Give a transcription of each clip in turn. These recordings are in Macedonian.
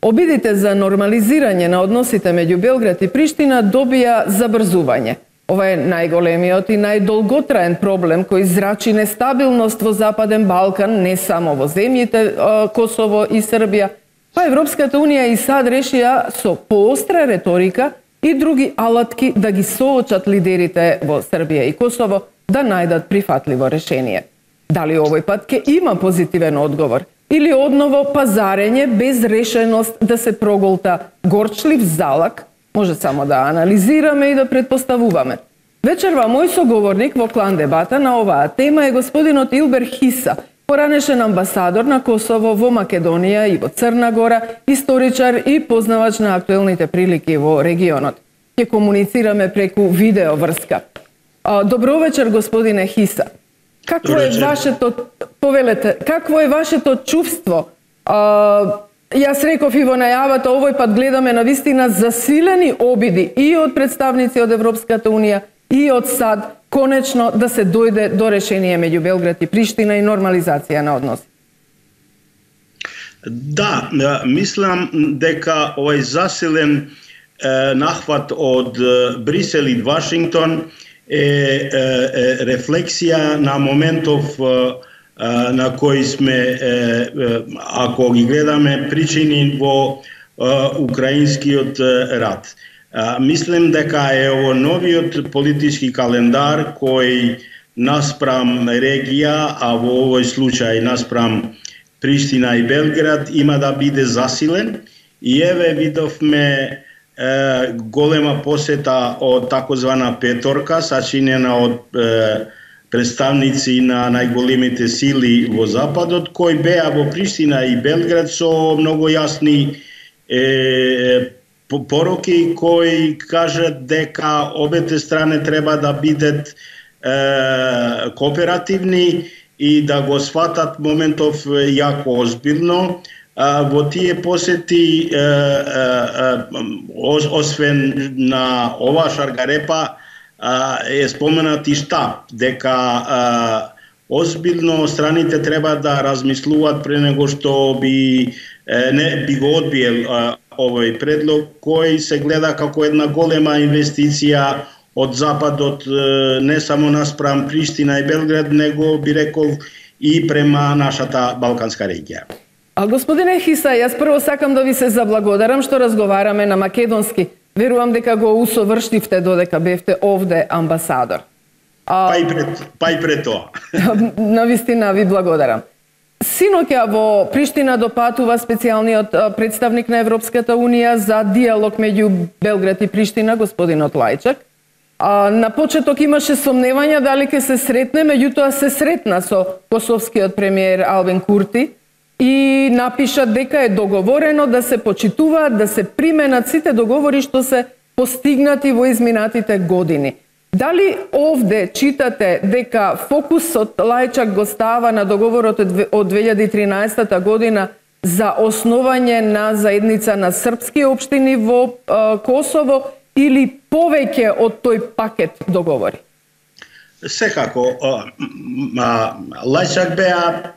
Обидите за нормализирање на односите меѓу Белград и Приштина добија забрзување. Ова е најголемиот и најдолготраен проблем кој зрачи нестабилност во Западен Балкан, не само во земјите Косово и Србија, па Европската Унија и САД решија со поостра реторика и други алатки да ги соочат лидерите во Србија и Косово да најдат прифатливо решение. Дали овој пат ќе има позитивен одговор или одново пазарење без решеност да се проголта горчлив залак, може само да анализираме и да предпоставуваме. Вечерва мој соговорник во клан дебата на оваа тема е господинот Илбер Хиса, поранешен амбасадор на Косово во Македонија и во Црна Гора, историчар и познавач на актуелните прилики во регионот. Ќе комуницираме преку видео врска. Добро вечер, господине Хиса. Какво е вашето, повелете, какво е вашето чувство? Јас реков и во најавата, овој пат гледаме на вистина засилени обиди и од представници од Европската Унија и од САД, конечно да се дојде до решение меѓу Белград и Приштина и нормализација на односи. Да, мислам дека овој засилен нахват од Брисел и Вашингтон е рефлексија на моментов на кои сме, ако ги гледаме, причини во украинскиот рат. Мислим дека е ово новиот политички календар кој наспрам регија, а во овој случај наспрам Приштина и Белград има да биде засилен. И еве видовме голема посета од такозвана петорка, сачинена од представници на најголемите сили во Западот, кои беа во Приштина и Белград со многу јасни пороки, кои кажат дека обете страни треба да бидат кооперативни и да го сватат моментов јако озбилно. Во тие посети, освен на ова шаргарепа, е споменат и штаб, дека озбилно страните треба да размислуваат пред него што би го одбиел овој предлог, кој се гледа како една голема инвестиција од Западот, не само наспрам Приштина и Белград, него би рекол и према нашата балканска регија. Господине Хиса, јас прво сакам да ви се заблагодарам што разговараме на македонски. Верувам дека го усовршивте додека бевте овде амбасадор. Па и пред тоа. Навистина ви благодарам. Синоќа во Приштина допатува специјалниот представник на Европската Унија за диалог меѓу Белград и Приштина, господинот Лајчак. На почеток имаше сомневања дали ќе се сретне, меѓутоа се сретна со косовскиот премиер Албин Курти и напиша дека е договорено да се почитуваат, да се применат сите договори што се постигнати во изминатите години. Дали овде читате дека фокусот Лајчак го става на договорот од 2013 година за основање на заедница на српски општини во Косово или повеќе од тој пакет договори? Секако, Лајчак беа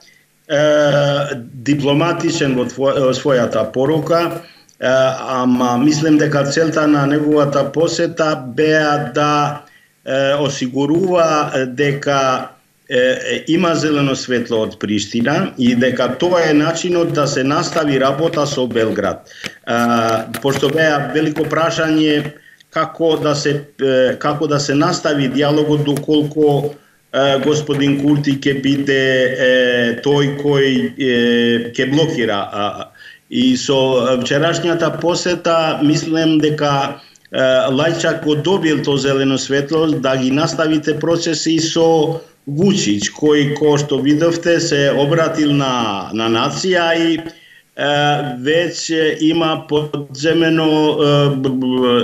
дипломатичен во својата порука, ама мислам дека целта на неговата посета беа да осигурува дека има зелено светло од Приштина и дека тоа е начинот да се настави работа со Белград. Пошто беа велико прашање како да се настави диалогот доколку господин Курти ќе биде тој кој ќе блокира. И со вчерашњата посета мислам дека Лајчак го добил то зелено светло да ги наставите процеси со Вучич, кој, што видовте, се обратил на нација и веќе има подземено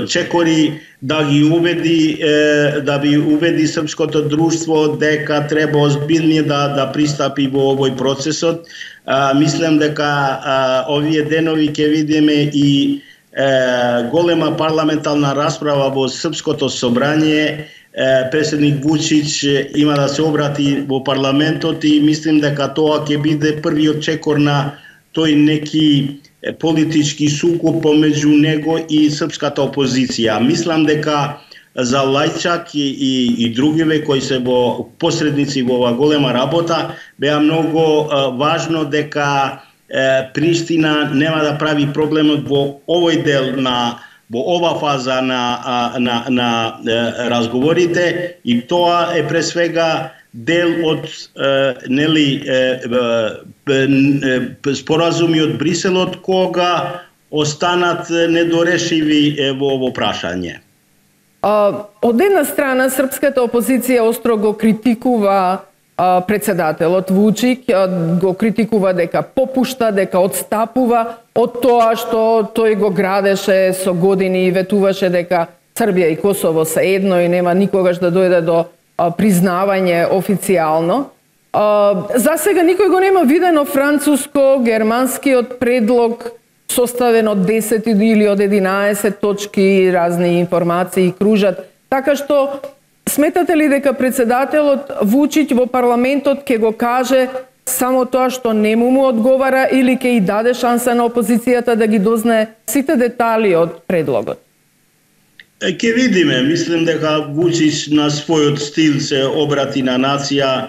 чекори да ги уведи српското друштво дека треба озбилни да пристапи во овој процесот. Мислам дека овие денови ќе видиме и голема парламентарна расправа во Српското собрание. Председник Вучич има да се обрати во парламентот и мислим дека тоа ќе биде првиот чекор на тој неки политички сукоb помеѓу него и српската опозиција. Мислам дека за Лајчак и другиве кои се во посредници во ова голема работа беа многу важно дека Приштина нема да прави проблемот во овој дел во ова фаза на разговорите, и тоа е пред свега дел од споразуми од Бриселот кога останат недорешиви во ово прашање. Од една страна, српската опозиција остро го критикува председателот Вучик, го критикува дека попушта, дека одстапува од тоа што тој го градеше со години и ветуваше дека Србија и Косово се едно и нема никогаш да дојде до признавање официјално. За сега никој го нема видено француско-германскиот предлог составен од 10 или од 11 точки, разни информации кружат. Така што, сметате ли дека председателот Вучич во парламентот ќе го каже само тоа што не му одговара или ќе и даде шанса на опозицијата да ги дознае сите детали од предлогот? Ке видиме, мислам дека Вучич на својот стил се обрати на нација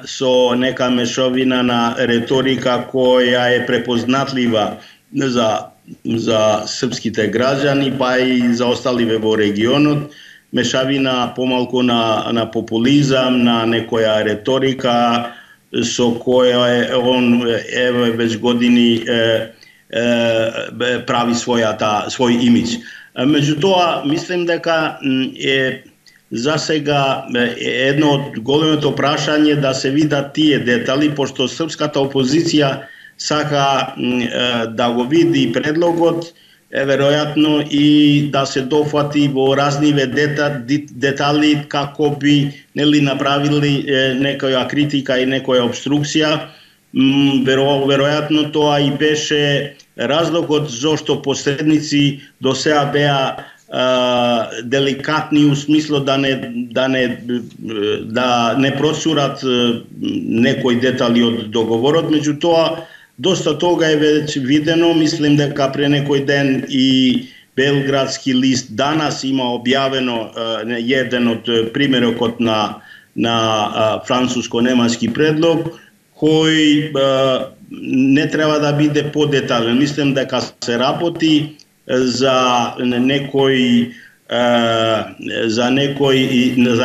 со нека мешовина на реторика која е препознатлива за српските граѓани, па и за осталиве во регионот, мешавина помалку на популизам, на некоја реторика со која он веќе години прави свој имидж. Меѓутоа, мислим дека за сега едно од големото прашање да се видат тие детали, пошто српската опозиција сака да го види предлогот, веројатно и да се дофати во разниве детали како би направили некоја критика и некоја обструкција. Веројатно тоа и беше разлогот зошто посредници до сега беа деликатни у смисло да не процурат некои детали од договорот, меѓутоа доста тога е веќе видено. Мислим дека пре некој ден и Белградски лист данас има објавено еден од примерокот на француско-немански предлог кој не треба да биде подетален. Мислим дека се работи за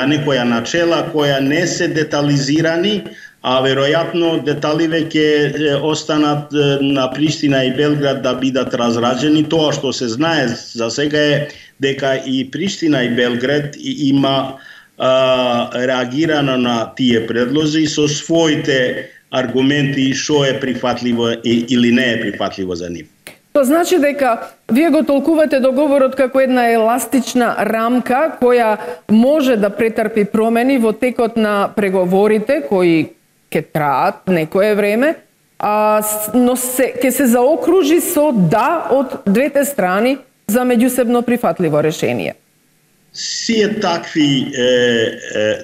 некоја начела која не се детализирани, а веројатно деталиве ќе останат на Приштина и Белград да бидат разраđени. Тоа што се знае за сега е дека и Приштина и Белград има реагирано на тие предлози со своите аргументи што е прифатливо или не е прифатливо за нив. Тоа значи дека вие го толкувате договорот како една еластична рамка која може да претрпи промени во текот на преговорите кои ќе траат некое време, но ќе се заокружи со да од двете страни за меѓусебно прифатливо решение. Сие такви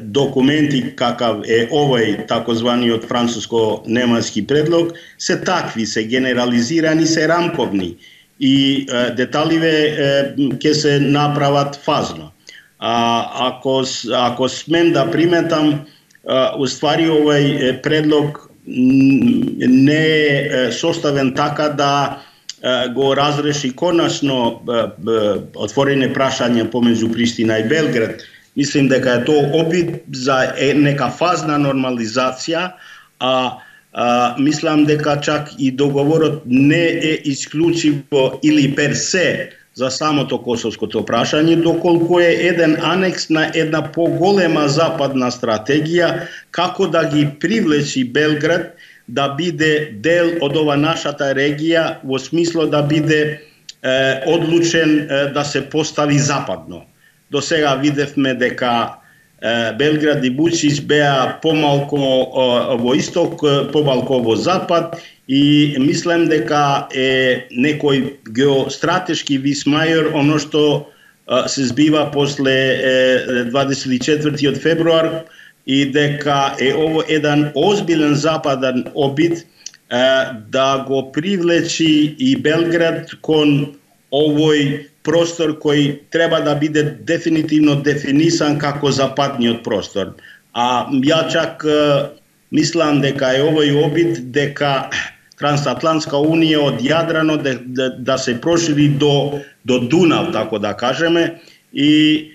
документи какав е овој такозваниот француско-немански предлог се такви, се генерализирани, се рамковни и деталиве ќе се направат фазно. Ако смем да приметам, уствари овој предлог не е составен така да го разреши конечно отворени прашања помеѓу Приштина и Белград. Мислим дека е тоа обид за нека фазна нормализација, мислам дека чак и договорот не е исклучиво или персе за самото косовското прашање, доколку е еден анекс на една поголема западна стратегија како да ги привлечи Белград да биде дел од ова нашата регија, во смисло да биде одлучен да се постави западно. До сега видевме дека Белград и Вучич беа помалку во исток, помалку во запад, и мислам дека е некој геостратешки висмајор оно што се збива после 24 февруар, и дека е ово еден озбилен западен обид да го привлечи и Белград кон овој простор кој треба да биде дефинитивно дефинисан како западниот простор. А ја чак мислам дека е овој обид дека Трансатлантска унија од Јадрано да се прошири до Дунав, така да кажеме, и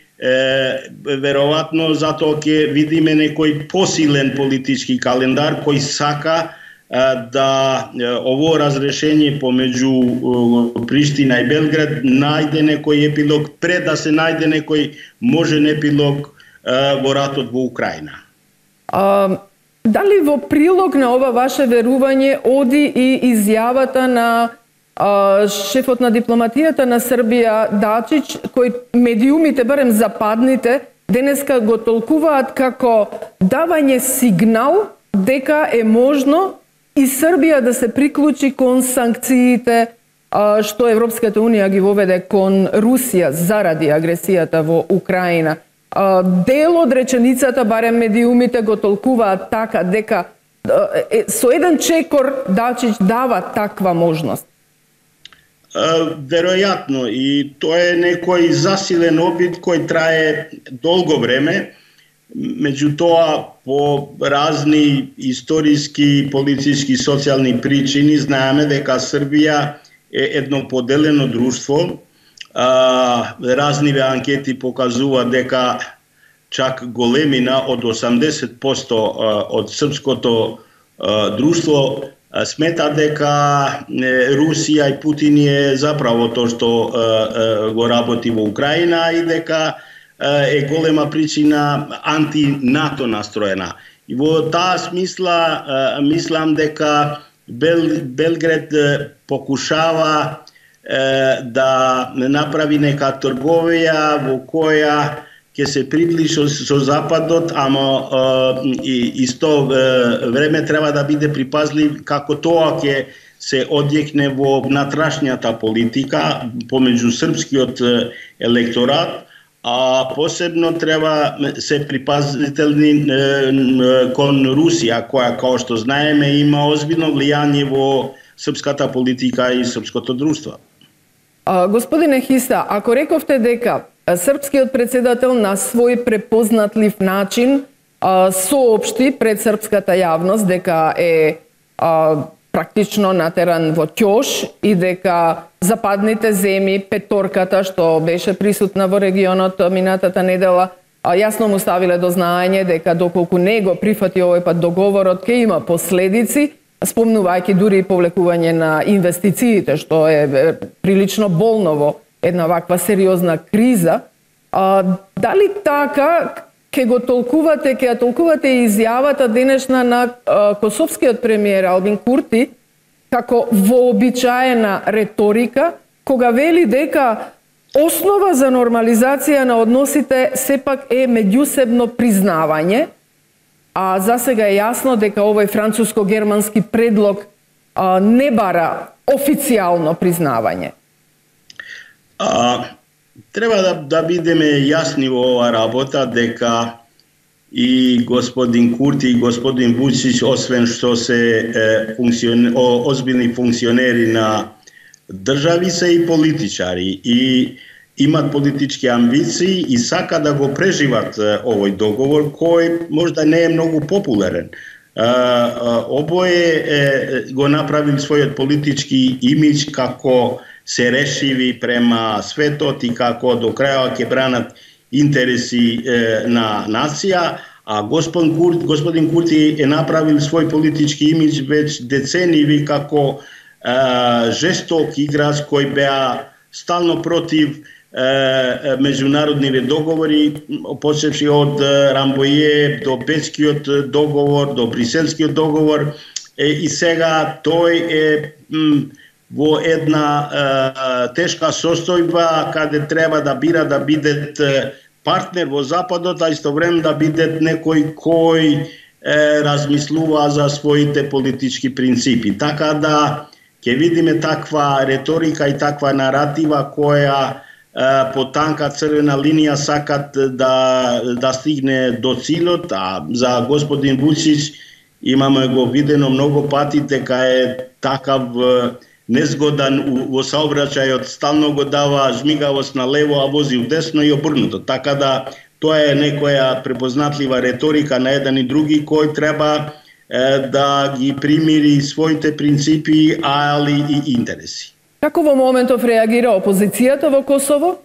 веројатно затоа ќе видиме некој посилен политички календар кој сака да ово разрешение помеѓу Приштина и Белград најде некој епилог пред да се најде некој можен епилог во ратот во Украина. Дали во прилог на ова ваше верување оди и изјавата на шефот на дипломатијата на Србија Дачич, кој медиумите, барем западните, денеска го толкуваат како давање сигнал дека е можно и Србија да се приклучи кон санкциите што Европската унија ги воведе кон Русија заради агресијата во Украина. Дел од реченицата, барем медиумите го толкуваат така, дека со еден чекор Дачич дава таква можност. Веројатно, и тоа е некој засилен обид кој трае долго време. Меѓутоа, по разни историски, политички, социјални причини, знаеме дека Србија е едно поделено друштво. Разниве анкети покажува дека чак големина од 80% од српското друштво смета дека Русија и Путин е заправо тоа што го работи во Украина и дека е голема причина анти-НАТО настроена. И во таа смисла мислам дека Белград покушава да направи нека трговија во која ќе се приближи со Западот, ама исто време треба да биде припазлив како тоа ќе се одјекне во внатрешната политика помеѓу српскиот електорат, а посебно треба се припазителни кон Русија, која, како што знаеме, има озбилно влијание во српската политика и српското друштво. Господине Хиста, ако рековте дека српскиот председател на свој препознатлив начин соопшти пред српската јавност дека е практично натеран во ќош и дека западните земји, петорката што беше присутна во регионот минатата недела, јасно му ставиле до знаење дека доколку не го прифати овој пат договорот ќе има последици, спомнувајќи дури и повлекување на инвестициите, што е прилично болно во една ваква сериозна криза. Дали така ќе го толкувате, ќе ја толкувате изјавата денешна на косовскиот премиер Албин Курти како вообичаена реторика, кога вели дека основа за нормализација на односите сепак е меѓусебно признавање, а засега е јасно дека овој француско-германски предлог не бара официјално признавање. Треба да бидеме јасни во оваа работа дека и господин Курти и господин Вучич, освен што се озбилни функционери на држави, се и политичари и имат политички амбиции и сака да го преживат овој договор кој можда не е многу популарен. Обој го направил својот политички имидж како се решиви према светот и како до крајот ќе бранат интереси на нација, а господин Курти е направил свој политички имидж веќе децениви како жесток играч кој беа стално против меѓународниве договори, почевши од Рамбоје до Бечкиот договор, до Бриселскиот договор, и сега тој е во една тешка состојба каде треба да бира да биде партнер во Западот, а истовремено да биде некој кој размислува за своите политички принципи. Така да ќе видиме таква реторика и таква наратива која по танка црвена линија сакат да стигне до цилот, а за господин Вучич имаме го видено многу пати дека е такав незгодан во саобраќајот, стално го дава жмигавост на лево, а вози вдесно и обрнуто. Така да тоа е некоја препознатлива реторика на еден и други кој треба да ги примири своите принципи, али и интереси. Како во моментов реагира опозицијата во Косово?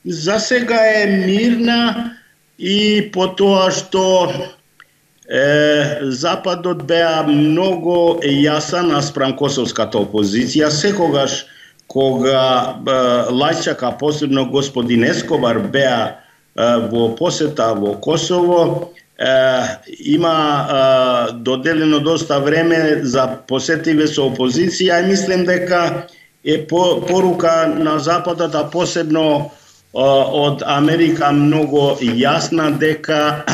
За сега е мирна и по тоа што Западот беа многу јасен наспрам косовската опозиција. Секогаш кога Лајчак, а посебно господин Ескобар беа во посета во Косово, има доделено доста време за посетиве со опозиција и мислам дека е порука на Западот, а посебно од Америка многу јасна дека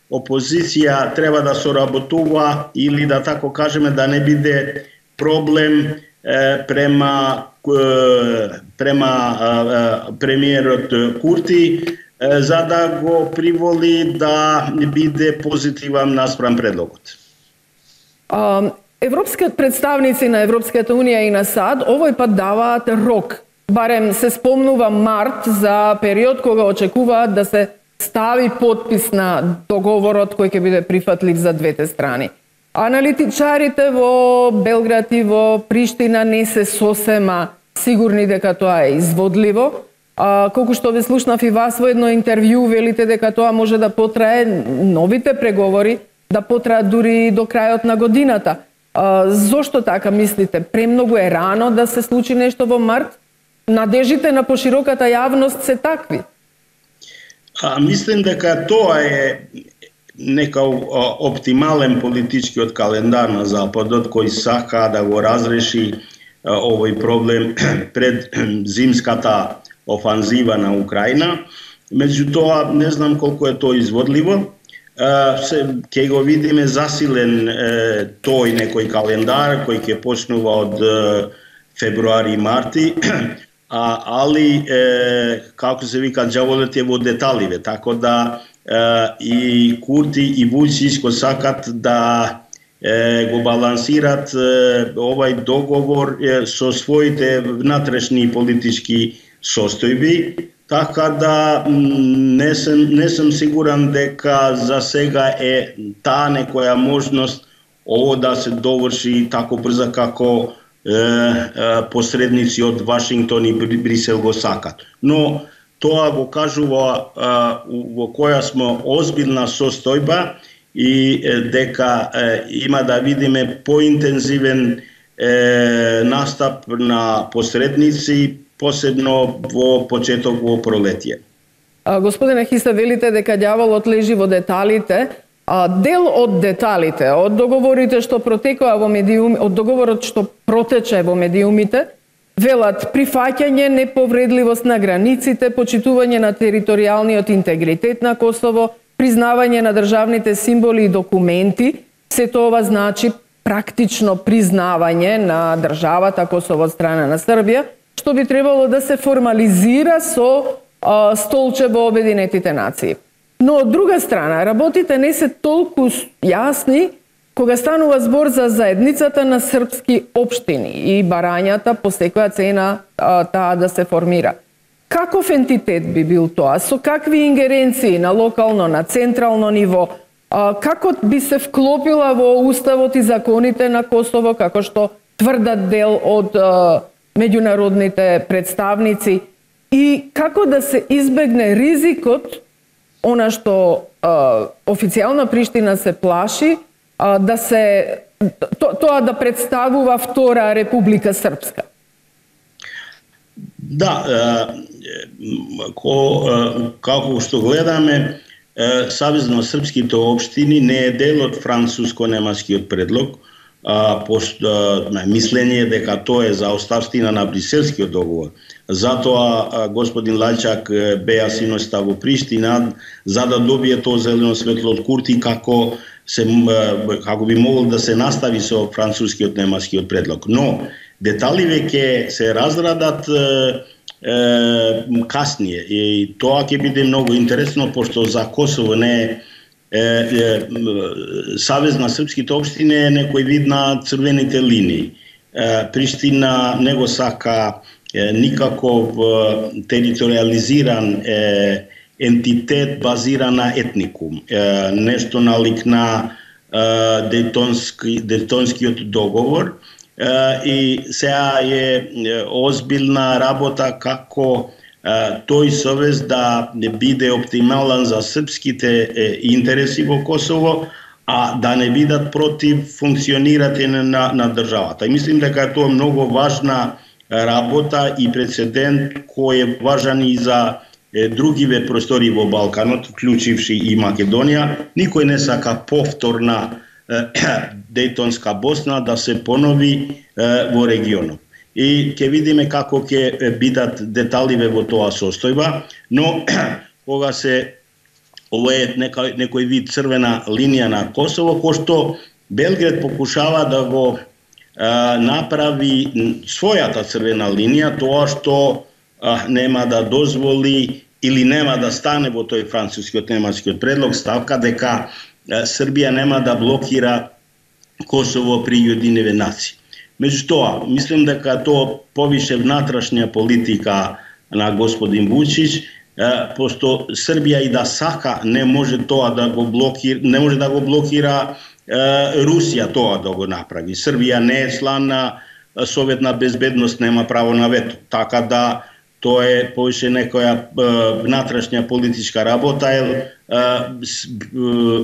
опозиција треба да соработува или да тако кажеме да не биде проблем према премиерот Курти, за да го приволи да биде позитивен наспрам предлогот. Европскиот представници на Европската Унија и на САД овој пат даваат рок. Барем се спомнува март за период кога очекуваат да се стави подпис на договорот кој ќе биде прифатлив за двете страни. Аналитичарите во Белград и во Приштина не се сосема сигурни дека тоа е изводливо. Колку што ве слушнав и вас во едно интервју, велите дека тоа може да потрае, новите преговори, да потраат дури до крајот на годината. Зошто така мислите? Премногу е рано да се случи нешто во март? Надежите на пошироката јавност се такви? Мислам дека тоа е нека оптимален политичкиот календар на Западот кој сака да го разреши овој проблем пред зимската офанзива на Украина. Меѓутоа, не знам колку е тоа изводливо. Ќе го видиме засилен тој некој календар кој ќе почнува од февруари и марти, али како се вика, џаволот е во деталиве, така да и Курти и Вујчич сакат да го балансират овај договор со своите внатрешни политички состојби, така да не сум сигурен дека за сега е таа некоја можност ово да се доврши тако брзо како посредници од Вашингтон и Брисел го сакат. Но тоа го кажува во која сме озбилна состојба и дека има да видиме поинтензивен настап на посредници, посебно во почеток во пролетие. Господине Хиса, велите дека ѓаволот лежи во деталите. Дел од деталите, од договорите што протекоа во медиуми, од договорот што протече во медиумите, велат прифаќање неповредливост на границите, почитување на територијалниот интегритет на Косово, признавање на државните символи и документи. Сето ова значи практично признавање на државата Косово од страна на Србија, што би требало да се формализира со столче во Обединетите нации. Но од друга страна, работите не се толку јасни кога станува збор за заедницата на српски општини и барањата по секоја цена таа да се формира. Каков ентитет би бил тоа? Со какви ингеренции на локално, на централно ниво? Како би се вклопила во уставот и законите на Косово, како што тврдат дел од меѓународните представници? И како да се избегне ризикот, она што официјална Приштина се плаши, да се тоа да представува втора Република Српска? Да, како што гледаме, Савезно српските општини не е дел од француско-немаскиот предлог, мислење дека тоа е за оставштина на Бриселскиот договор. Затоа господин Лајчак беа синоста во Приштина за да добие тоа зелено светло од Курти како би могол да се настави со францускиот немаскиот предлог. Но детали веќе се разрадат каснije и тоа ќе биде многу интересно пошто за Косово не е Савез на српските општини е некој вид на црвените линии. Приштина не го сака никаков териториализиран ентитет базиран на етникум. Нешто налик на Дејтонскиот договор. И сега е озбилна работа како тој совез да биде оптимален за српските интереси во Косово, а да не бидат против функционирање на државата. И мислим дека е тоа многу важна работа и прецедент кој е важен и за другиве простори во Балканот, вклучивши и Македонија. Никој не сака повторна Дејтонска Босна да се понови во регионот. И ќе видиме како ќе бидат деталиве во тоа состојба, но кога ово е некој вид црвена линија на Косово, кој што Белград покушава да го направи својата црвена линија, тоа што нема да дозволи или нема да стане во тој францускиот немачкиот предлог ставка дека Србија нема да блокира Косово при Уединетите нации. Меѓутоа, мислим дека тоа повише внатрешна политика на господин Вучич, пошто Србија и да сака не може тоа да го блокира, не може да го блокира Русија тоа да го направи. Србија не е член на Советна безбедност, нема право на вето. Така да тоа е повише некоја внатрешна политичка работа.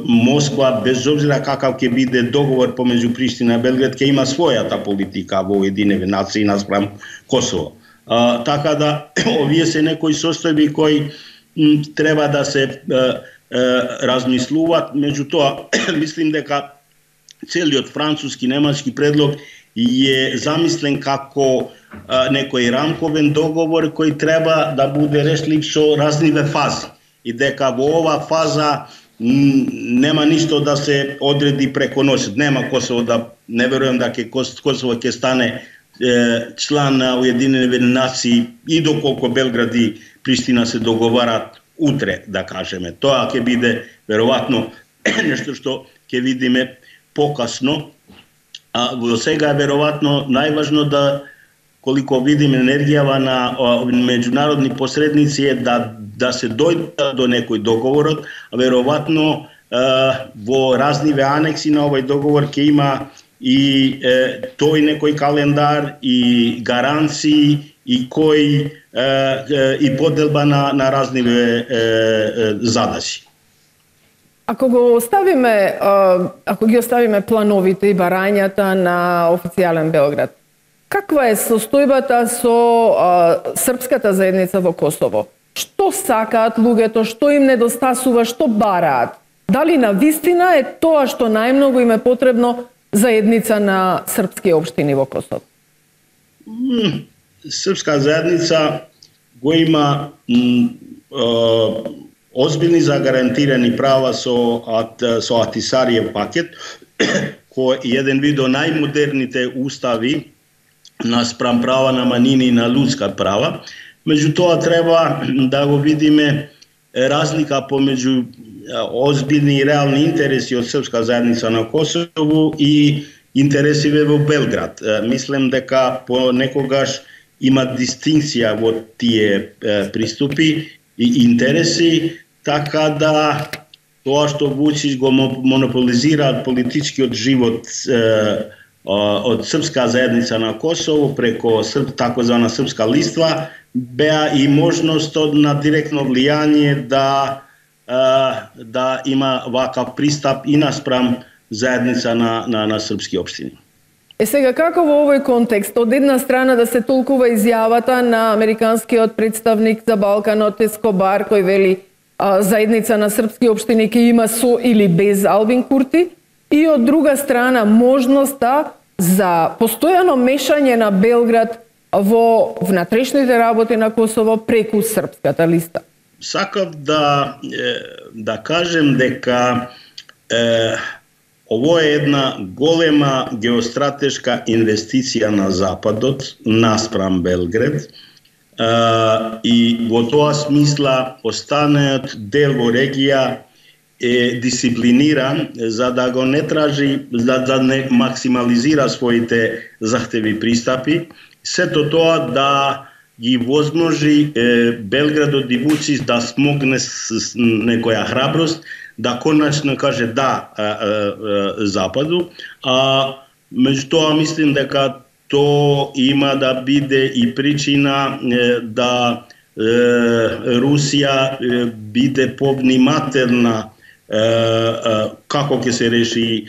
Москва, без обзира какав ќе биде договор помеѓу Приштина и Белград, ќе има својата политика во Уединетите нации наспрам Косово. Така да овие се некои состојби кои треба да се размислуваат. Меѓутоа, мислим дека целиот француски немачки предлог е замислен како некој рамковен договор кој треба да биде решлив со разливе фази. И дека во ова фаза нема ништо да се одреди преко носот. Нема Косово да, не верувам дека Косово ќе стане член на Уединетите нации и доколку Белград и Приштина се договарат утре, да кажеме. Тоа ќе биде веројатно нешто што ќе видиме покасно. А во сега е веројатно најважно да, колико видиме енергијава на меѓународни посредници е да се дојде до некој договорот, а веројатно во разливе анекси на овој договор ќе има и тој некој календар и гаранции и кој и поделба на разливе задачи. Ако ги оставиме плановите и барањата на официјален Белград, каква е состојбата со српската заедница во Косово? Што сакаат луѓето, што им недостасува, што бараат? Дали навистина е тоа што најмногу им е потребно заедница на српски општини во Косово? Српска заедница го има озбилни загарантирани права со Атисариев пакет, кој е еден вид од најмодерните устави наспрам права на манини и на лудска права. Меѓутоа треба да го видиме разлика помеѓу озбилни и реални интереси од српска заедница на Косово и интересиве во Белград. Мислам дека понекогаш има дистинкција во тие приступи и интереси, така да тоа што Вучич го монополизира политичкиот живот од српска заедница на Косово преко такозвана српска листва, беа и можност на директно влијание да има вакав пристап и наспрам заедница на српски општини. Сега, како во овој контекст, од една страна да се толкува изјавата на американскиот представник за Балканот Ескобар, кој вели заедница на српски општини ќе има со или без Албин Курти, и од друга страна можноста за постојано мешање на Белград во внатрешните работи на Косово преку српската листа. Сакав да кажем дека ово е една голема геостратешка инвестиција на Западот наспрам Белград и во тоа смисла останаат дел во регија е дисциплиниран за да го не тражи, да не максимализира своите захтеви пристапи, сето тоа да ги возможи Белградот и Вучич да смогне с некоја храброст, да конечно каже да Западу, а меѓутоа мислим дека то има да биде и причина да Русија биде повнимателна како ќе се реши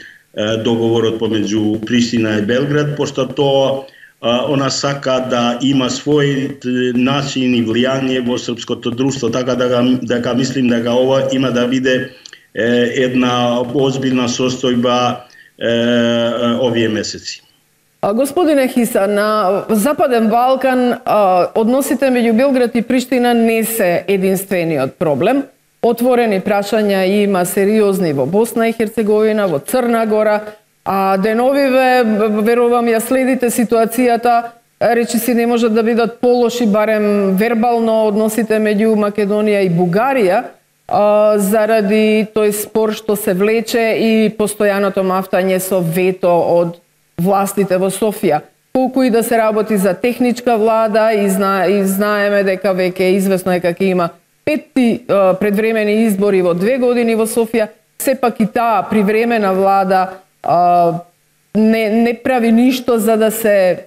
договорот помеѓу Приштина и Белград, пошто тоа она сака да има свој начин и влијание во српското друштво, така дека мислим дека ова има да биде една озбилна состојба овие месеци. Господине Хиса, на Западен Балкан односите меѓу Белград и Приштина не се единствениот проблем. Отворени прашања има сериозни во Босна и Херцеговина, во Црна Гора, а деновиве, верувам, ја следите ситуацијата, речиси не можат да бидат полоши, барем вербално, односите меѓу Македонија и Бугарија, заради тој спор што се влече и постојаното мафтање со вето од властите во Софија. Колку и да се работи за техничка влада и знаеме дека веќе известно е дека има 5 предвремени избори во 2 години во Софија, сепак и таа привремена влада не прави ништо за да се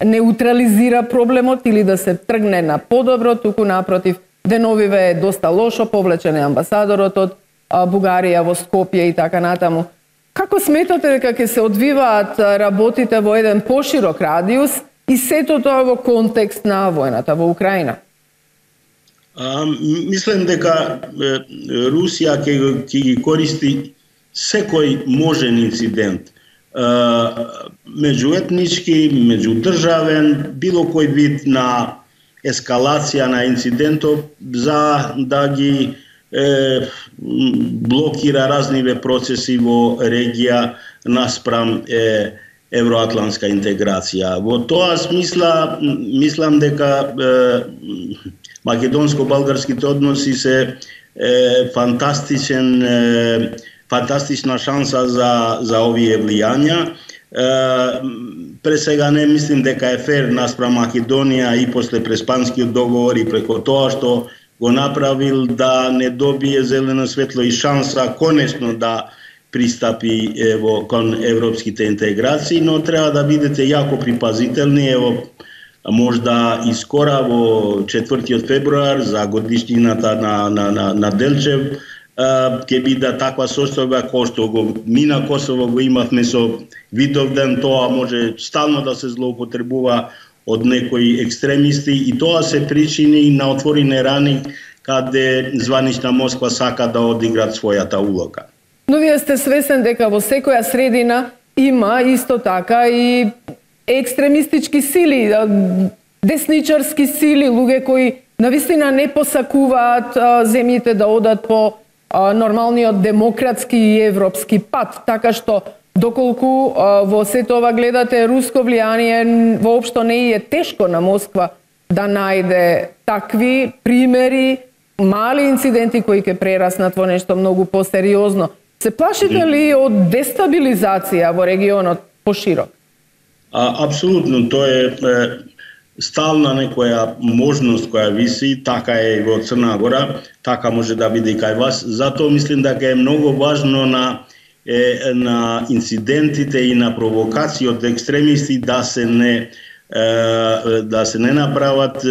неутрализира проблемот или да се тргне на подобро, туку напротив, деновиве е доста лошо, повлечен е амбасадорот од Бугарија во Скопје и така натаму. Како сметате дека ќе се одвиваат работите во еден поширок радиус и сето тоа во контекст на војната во Украина? Мислам дека Русија ќе ги користи секој можен инцидент, меѓуетнички, меѓудржавен, било кој вид на ескалација на инцидентов за да ги блокира разниве процеси во регија наспрам евроатлантска интеграција. Во тоа смисла, мислам дека македонско-балгарските односи се фантастична шанса за овие влијања. Пресега не мислим дека е фер наспрам Македонија и после Преспанскиот договор и преко тоа што го направил да не добие зелено светло и шанса конечно да пристапи кон европските интеграции, но треба да бидете јако припазителни. Можда и скора во 4 февруар за годишнината на Делчев ќе биде таква состојба кој што го мина Косово го имавме со Видовден, тоа може стално да се злоупотребува од некои екстремисти и тоа се причини на отворени рани каде званична Москва сака да одиграат својата улога. Но вие сте свесен дека во секоја средина има исто така и екстремистички сили, десничарски сили, луѓе кои навистина не посакуваат земјите да одат по нормалниот демократски и европски пат, така што доколку во сето ова гледате руско влијание, воопшто не е тешко на Москва да најде такви примери, мали инциденти кои ќе прераснат во нешто многу посериозно. Се плашите ли од дестабилизација во регионот поширок? Апсолутно, тоа е стална некоја можност која виси, така е и во Црна Гора, така може да биде и кај вас. Затоа мислим дека е многу важно на инцидентите и на провокации од екстремисти да се не направат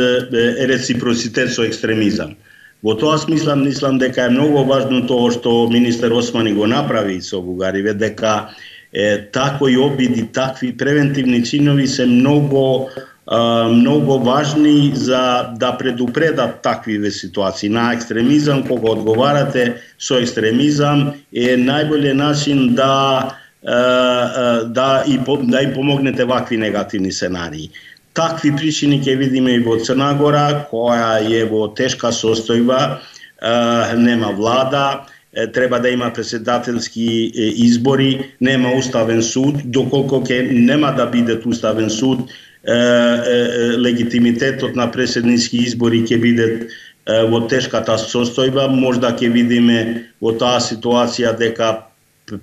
реципроцитет со екстремизам. Во тоа смисла мислам дека е многу важно тоа што министер Османи го направи со Бугарија, дека такви обиди, такви превентивни чинови се многу важни за да предупредат такви ситуации на екстремизам. Кога одговарате со екстремизам е најболјиот начин да и помогнете вакви негативни сценарии. Такви причини ќе видиме и во Црна Гора, која е во тешка состојба, нема влада, треба да има председателски избори, нема уставен суд, доколку нема да биде уставен суд, легитимитетот на преседнички избори ќе биде во тешката состојба. Можда ќе видиме во таа ситуација дека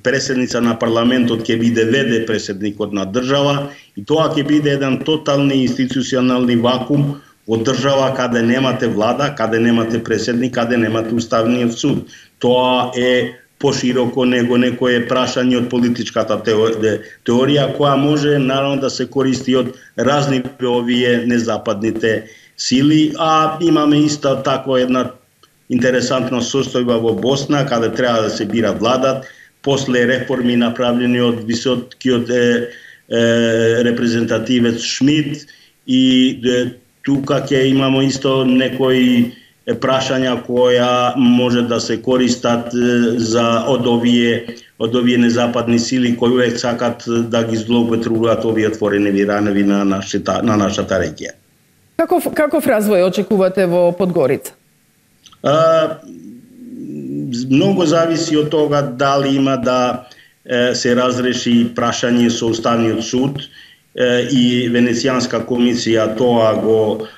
преседница на парламентот ќе биде веде преседникот на држава и тоа ќе биде еден тотални институционални вакуум во држава каде немате влада, каде немате преседник, каде немате уставниот суд. Тоа е пошироко него некое прашање од политичката теорија која може наравно да се користи од разни овие незападните сили, а имаме исто таква една интересантна состојба во Босна каде треба да се бира владат после реформи направени од високиот репрезентативец Шмидт и тука ќе имамо исто некои прашања која може да се користат од овие незападни сили кои увек сакат да ги злоупотребуваат овие отворени ранови на нашата регија. Каков развој очекувате во Подгорица? Многу зависи од тога дали има да се разреши прашање со Уставниот суд и Венецијанска комисија тоа го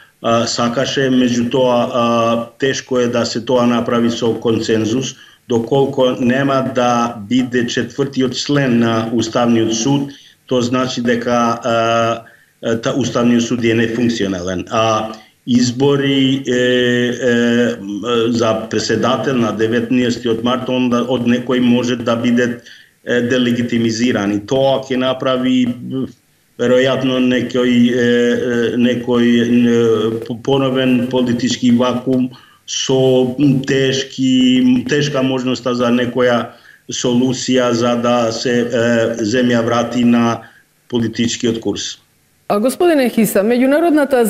сакаше, меѓутоа тешко е да се тоа направи со консензус, доколку нема да биде четвртиот член на Уставниот суд, тоа значи дека Уставниот суд е нефункционален. А избори за преседател на 19 март од некој може да биде делегитимизиран и тоа ќе направи веројатно некој поновен политички вакуум со тешка можноста за некоја солуција за да се земја врати на политичкиот курс. Господине Хиса, меѓународната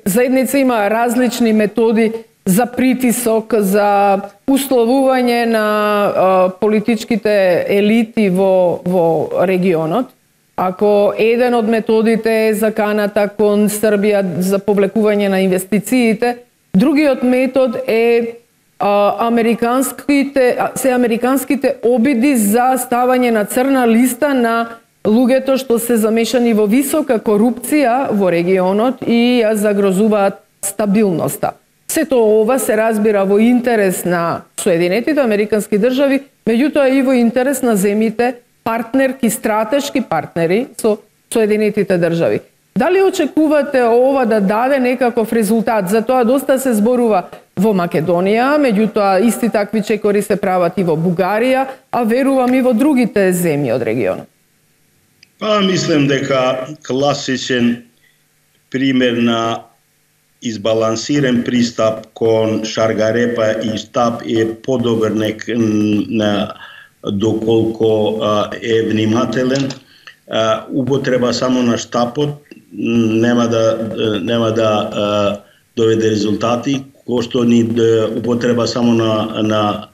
заедница има различни методи за притисок, за условување на политичките елити во регионот. Ако еден од методите е заканата кон Србија за повлекување на инвестициите, другиот метод е американските обиди за ставање на црна листа на луѓето што се замешани во висока корупција во регионот и ја загрозуваат стабилноста. Сето ова се разбира во интерес на Соединетите Американски држави, меѓутоа и во интерес на земјите партнерки, стратешки партнери со Соединетите држави. Дали очекувате ова да даде некаков резултат? За тоа доста се зборува во Македонија, меѓутоа исти такви чекори се прават и во Бугарија, а верувам и во другите земји од регионот. Мислам дека класичен пример на избалансиран пристап кон Шаргарепа и Штаб е подобар доколку е внимателен. Употреба само на Штапот нема да доведе резултати, кој што ни употреба само на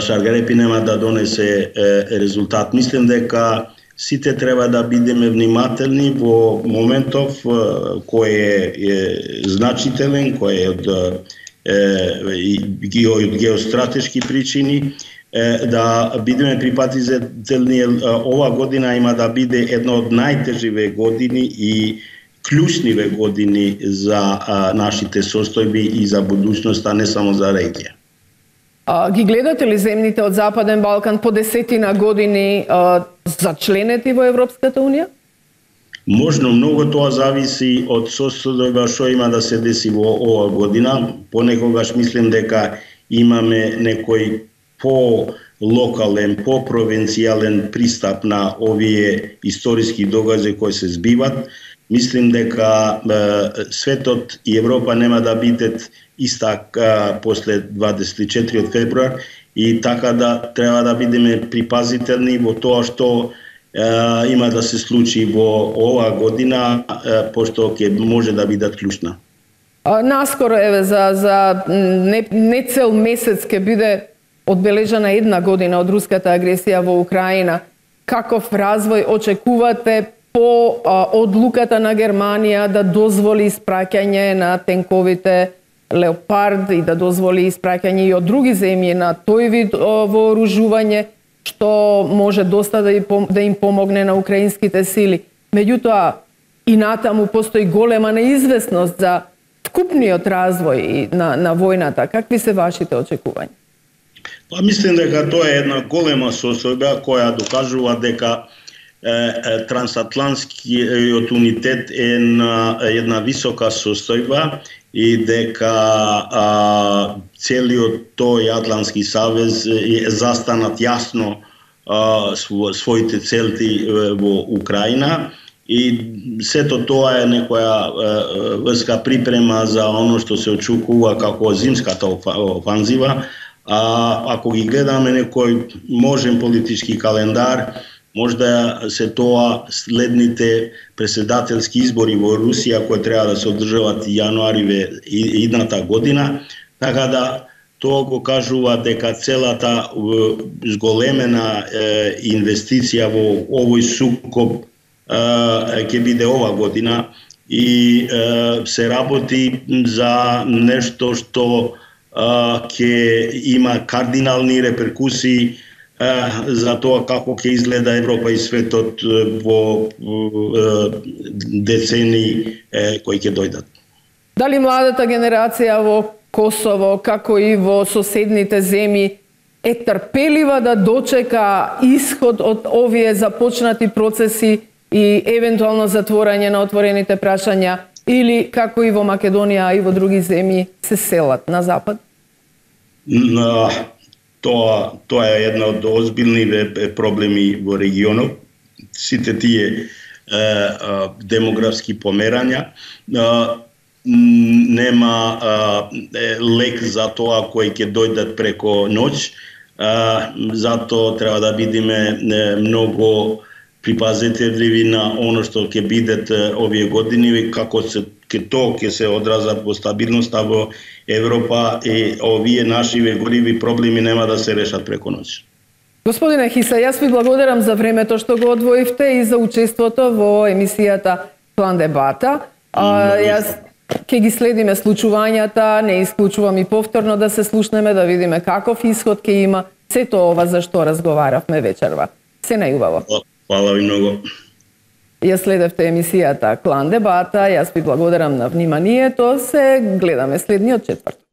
Шаргарепи нема да донесе резултат. Мислам дека сите треба да бидеме внимателни во моментов кој е значителен, кој е од геостратешки причини, да бидеме припатителни. Ова година има да биде една од најтеживе години и клучниве години за нашите состојби и за будуćноста, не само за регија. Ги гледате ли земјите од Западен Балкан по 10 години зачленети во Европската Унија? Можно, многу тоа зависи од состојба што има да се деси во ова година. Понекогаш мислим дека имаме некој по-локален, по-провинцијален пристап на овие историски догаѓаи кои се збиват. Мислим дека светот и Европа нема да бидат иста после 24 февруар и така да треба да бидеме припазителни во тоа што има да се случи во оваа година, пошто ќе може да бидат клучна. Наскоро за не цел месец ќе биде одбележана 1 година од руската агресија во Украина. Каков развој очекувате по одлуката на Германија да дозволи испраќање на тенковите Леопард и да дозволи испраќање и од други земји на тој вид вооружување, што може доста да им помогне на украинските сили. Меѓутоа, и натаму постои голема неизвестност за вкупниот развој на војната, какви се вашите очекувања? Па мислам дека тоа е една голема состојба која докажува дека трансатлантскиот унитет е една висока состојба и дека целиот тој Атлантски савез е застанат јасно своите целти во Украина и сето тоа е некоја врска припрема за оно што се очекува како зимската офанзива. Ако ги гледаме некој можен политички календар, можда се тоа следните председателски избори во Русија кои треба да се одржават јануари идната година, така да тоа го кажува дека целата зголемена инвестиција во овој сукоп ќе биде ова година и се работи за нешто што ќе има кардинални реперкусии за тоа како ќе изгледа Европа и светот во децени кои ќе дојдат. Дали младата генерација во Косово, како и во соседните земји, е трпелива да дочека исход од овие започнати процеси и евентуално затворање на отворените прашања, или како и во Македонија и во други земји се селат на запад? Тоа е една од озбилните проблеми во регионот. Сите тие демографски померања, нема лек за тоа кои ќе дојдат преко ноќ, затоа треба да бидеме многу припазителни на оно што ќе бидат овие години, како ќе се одразат во стабилноста во Европа и овие наши гориви проблеми нема да се решат преко ноќ. Господине Хиса, јас ви благодарам за времето што го одвоивте и за учеството во емисијата Клан дебата. Јас ќе ги следиме случувањата, не исклучувам и повторно да се слушнеме, да видиме каков исход ќе има сето ова за што разговаравме вечерва. Се најубаво. Фала ви многу. Ја следевте емисијата Клан дебата, јас ви благодарам на вниманието, се гледаме следниот четврток.